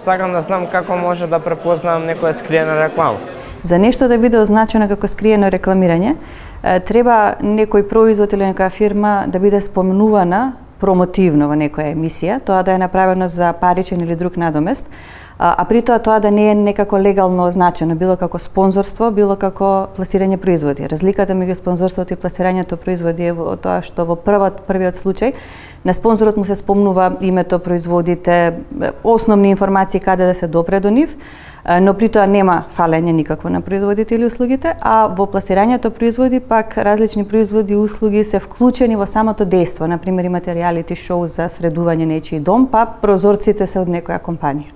сакам да знам како може да препознам некоја скриена реклама. За нешто да биде означено како скриено рекламирање, треба некој производ или некоја фирма да биде споменувана промотивно во некоја емисија, тоа да е направено за паричен или друг надомест, а при тоа да не е некако легално означено, било како спонзорство, било како пласирање производи. Разликата меѓу спонзорството и пласирањето производи е во тоа што во првиот случај на спонзорот му се спомнува името, производите, основни информации каде да се допре до нив, но при тоа нема фалење никакво на производите или услугите, а во пласирањето производи пак различни производи и услуги се вклучени во самото дејство. Например, имате реалити шоу за средување нечии дом, па прозорците се од некоја компанија.